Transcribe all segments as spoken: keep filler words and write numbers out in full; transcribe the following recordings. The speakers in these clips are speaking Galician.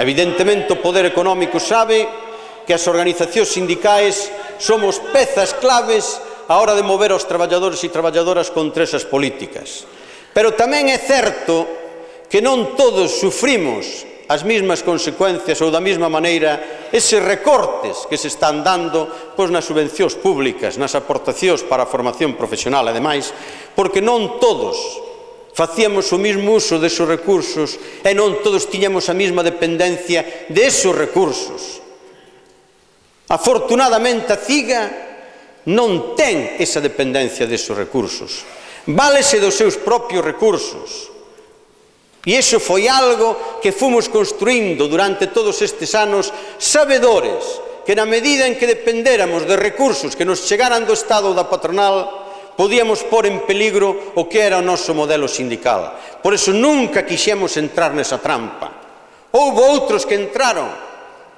Evidentemente, o poder económico sabe que as organizacións sindicais somos pezas claves á hora de mover aos traballadores e traballadoras contra esas políticas. Pero tamén é certo que non todos sufrimos as mesmas consecuencias ou da mesma maneira eses recortes que se están dando pois, nas subvencións públicas, nas aportacións para a formación profesional e demais, porque non todos facíamos o mesmo uso desos recursos e non todos tiñamos a mesma dependencia desos recursos. Afortunadamente, a CIGA non ten esa dependencia desos recursos. Válese dos seus propios recursos. E iso foi algo que fomos construindo durante todos estes anos, sabedores que na medida en que dependéramos de recursos que nos chegaran do Estado ou da patronal, podíamos pôr en peligro o que era o noso modelo sindical. Por iso nunca quixemos entrar nesa trampa. Houbo outros que entraron,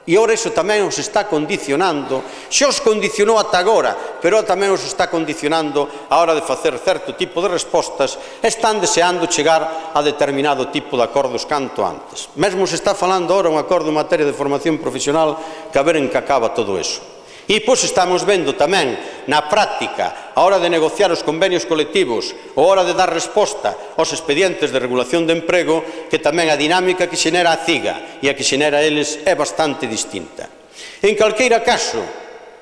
e ora iso tamén os está condicionando, xa os condicionou ata agora, pero tamén os está condicionando a hora de facer certo tipo de respostas, están deseando chegar a determinado tipo de acordos canto antes. Mesmo se está falando agora un acordo en materia de formación profesional que a ver en que acaba todo eso. E pois estamos vendo tamén na práctica, a hora de negociar os convenios colectivos, a hora de dar resposta aos expedientes de regulación de emprego, que tamén a dinámica que xenera a CIGA e a que xenera eles é bastante distinta. En calqueira caso,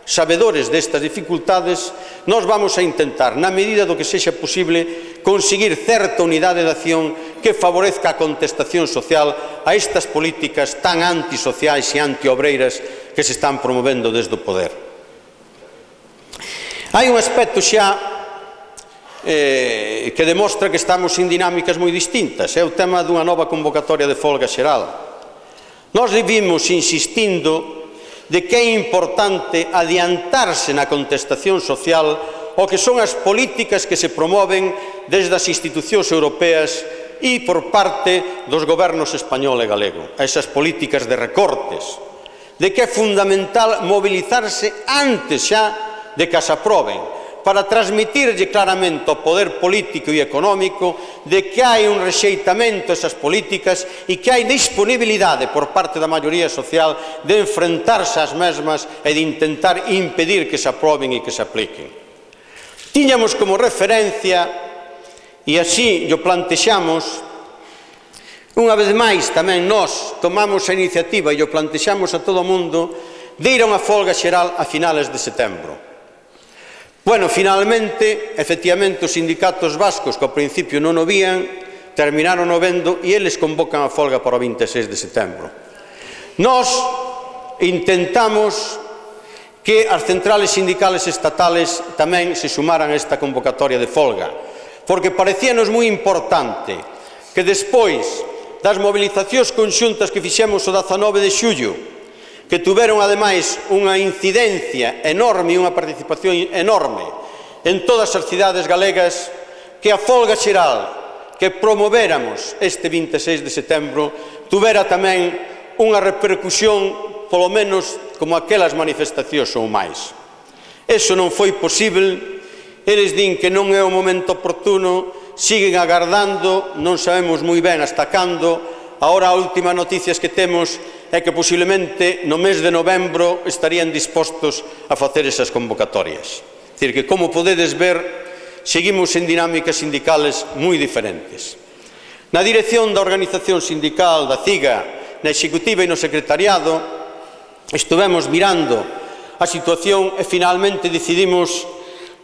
sabedores destas dificultades, nós vamos a intentar, na medida do que sexa posible, conseguir certa unidade de acción que favorezca a contestación social a estas políticas tan antisociais e antiobreiras que se están promovendo desde o poder. Hai un aspecto xa eh, que demostra que estamos en dinámicas moi distintas, é o tema dunha nova convocatoria de folga xeral. Nós vivimos insistindo de que é importante adiantarse na contestación social o que son as políticas que se promoven desde as institucións europeas e por parte dos gobernos español e galego, a esas políticas de recortes, de que é fundamental mobilizarse antes xa de que as aproben, para transmitirlle claramente ao poder político e económico de que hai un rexeitamento a esas políticas e que hai disponibilidade por parte da maioría social de enfrentarse ás mesmas e de intentar impedir que se aproben e que se apliquen. Tiñamos como referencia, e así o plantexamos, unha vez máis tamén nós tomamos a iniciativa e o plantexamos a todo o mundo de ir a unha folga xeral a finales de setembro. Bueno, finalmente, efectivamente, os sindicatos vascos que ao principio non o vían, terminaron o vendo e eles convocan a folga para o vinte e seis de setembro. Nós intentamos que as centrales sindicales estatales tamén se sumaran a esta convocatoria de folga, porque parecíanos moi importante que despois das movilizacións conxuntas que fixemos o dezanove de xullo, que tuveron ademais unha incidencia enorme e unha participación enorme en todas as cidades galegas, que a folga xeral que promovéramos este vinte e seis de setembro tuvera tamén unha repercusión polo menos como aquelas manifestacións ou máis. Eso non foi posible, eles din que non é o momento oportuno, siguen agardando, non sabemos moi ben hasta cando. Agora a última noticias que temos é que posiblemente no mes de novembro estarían dispostos a facer esas convocatorias. É dicir, que como podedes ver, seguimos en dinámicas sindicales moi diferentes. Na dirección da organización sindical da CIGA, na executiva e no secretariado, estivemos mirando a situación e finalmente decidimos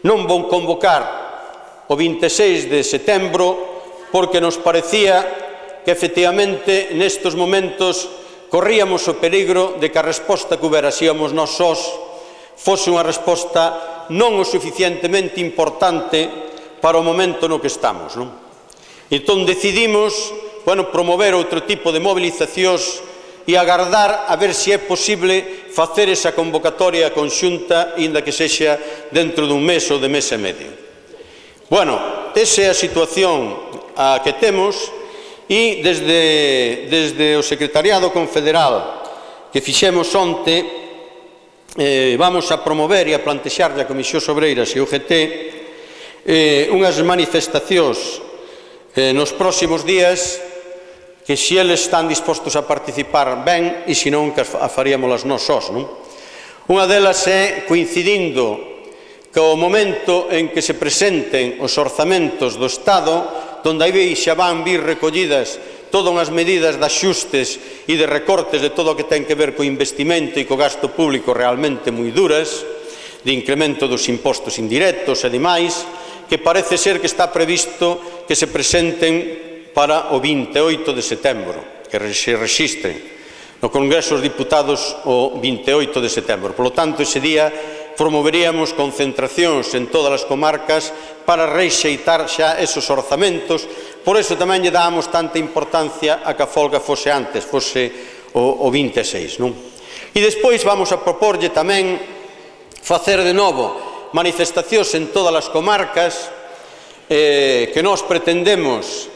non convocar o vinte e seis de setembro porque nos parecía que efectivamente nestes momentos corríamos o peligro de que a resposta que houbera síamos nós sós fose unha resposta non o suficientemente importante para o momento no que estamos, non? Entón decidimos, bueno, promover outro tipo de movilizacións e agardar a ver se é posible facer esa convocatoria conxunta, inda que sexa dentro dun mes ou de mes e medio. Bueno, esa é a situación a que temos. E desde, desde o Secretariado Confederal que fixemos onte, eh, vamos a promover e a plantexar a Comisión Obreiras e o U G T eh, unhas manifestacións eh, nos próximos días que se eles están dispostos a participar ben e se non que a faríamos nós sós, non? Unha delas é coincidindo co momento en que se presenten os orzamentos do Estado, donde aí xa van vir recollidas todas as medidas de axustes e de recortes de todo o que ten que ver co investimento e co gasto público realmente moi duras, de incremento dos impostos indirectos e demais, que parece ser que está previsto que se presenten para o vinte e oito de setembro, que se rexistren no Congreso dos Diputados o vinte e oito de setembro. Por lo tanto, ese día promoveríamos concentracións en todas as comarcas para rexeitar xa esos orzamentos. Por eso tamén lle dábamos tanta importancia a que a folga fose antes, fose o, o vinte e seis, non? E despois vamos a proporlle tamén facer de novo manifestacións en todas as comarcas eh, que nós pretendemos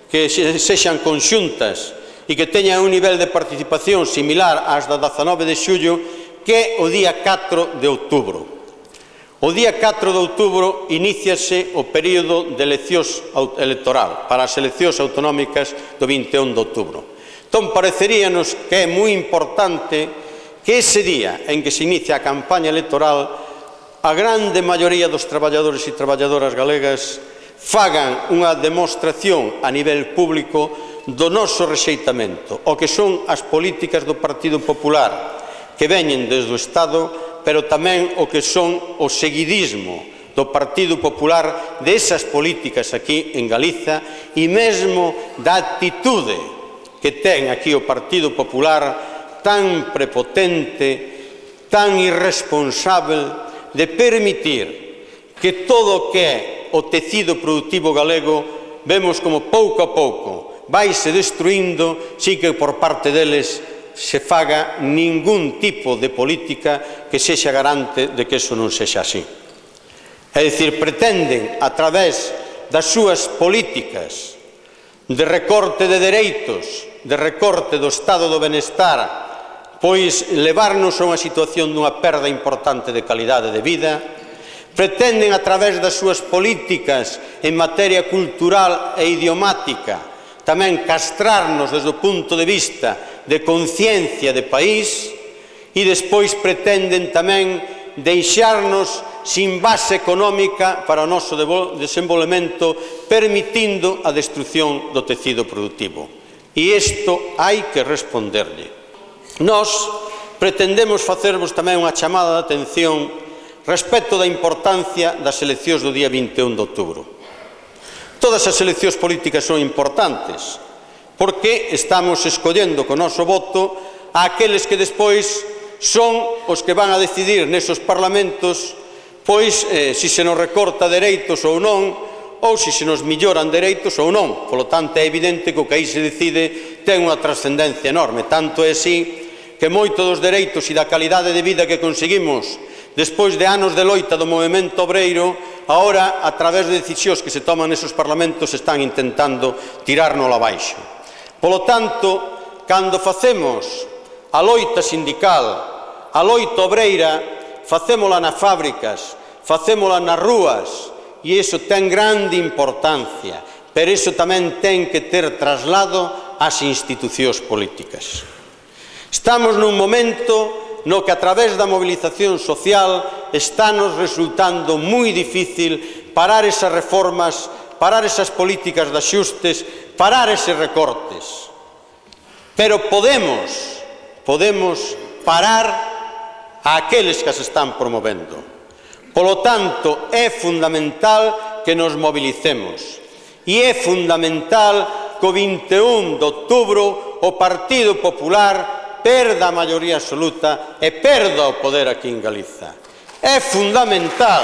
que sexan conxuntas e que teñan un nivel de participación similar ás da dezanove de xullo, que é o día catro de outubro. O día catro de outubro iníciase o período de eleccións electoral para as eleccións autonómicas do vinte e un de outubro. Entón, pareceríanos que é moi importante que ese día en que se inicia a campaña electoral a grande maioría dos traballadores e traballadoras galegas fagan unha demostración a nivel público do noso rexeitamento, o que son as políticas do Partido Popular, que veñen desde o Estado, pero tamén o que son o seguidismo do Partido Popular desas políticas aquí en Galiza e mesmo da actitude que ten aquí o Partido Popular tan prepotente, tan irresponsável de permitir que todo o que é o tecido productivo galego vemos como pouco a pouco vaise destruindo sin que por parte deles se faga ningún tipo de política que sexa garante de que eso non sexa así. É dicir, pretenden a través das súas políticas de recorte de dereitos, de recorte do estado do benestar, pois levarnos a unha situación dunha perda importante de calidade de vida. Pretenden a través das súas políticas en materia cultural e idiomática tamén castrarnos desde o punto de vista de conciencia de país e despois pretenden tamén deixarnos sin base económica para o noso desenvolvemento, permitindo a destrucción do tecido productivo. E isto hai que responderlle. Nós pretendemos facervos tamén unha chamada de atención respecto da importancia das eleccións do día vinte e un de outubro. Todas as eleccións políticas son importantes, porque estamos escollendo co noso voto a aqueles que despois son os que van a decidir nesos parlamentos, pois, eh, se se nos recorta dereitos ou non, ou se se nos melloran dereitos ou non. Polo tanto, é evidente que o que aí se decide ten unha trascendencia enorme. Tanto é así que moitos dos dereitos e da calidade de vida que conseguimos despois de anos de loita do movemento obreiro, agora, a través de decisións que se toman nesos parlamentos, están intentando tirárnoslo abaixo. Polo tanto, cando facemos a loita sindical, a loita obreira, facémola nas fábricas, facémola nas rúas, e iso ten grande importancia, pero iso tamén ten que ter traslado ás institucións políticas. Estamos nun momento no que a través da movilización social está nos resultando moi difícil parar esas reformas, parar esas políticas de axustes, parar eses recortes. Pero podemos, podemos parar a aqueles que as están promovendo. Polo tanto, é fundamental que nos mobilicemos. E é fundamental que o vinte e un de outubro o Partido Popular perda a maioría absoluta e perda o poder aquí en Galiza. É fundamental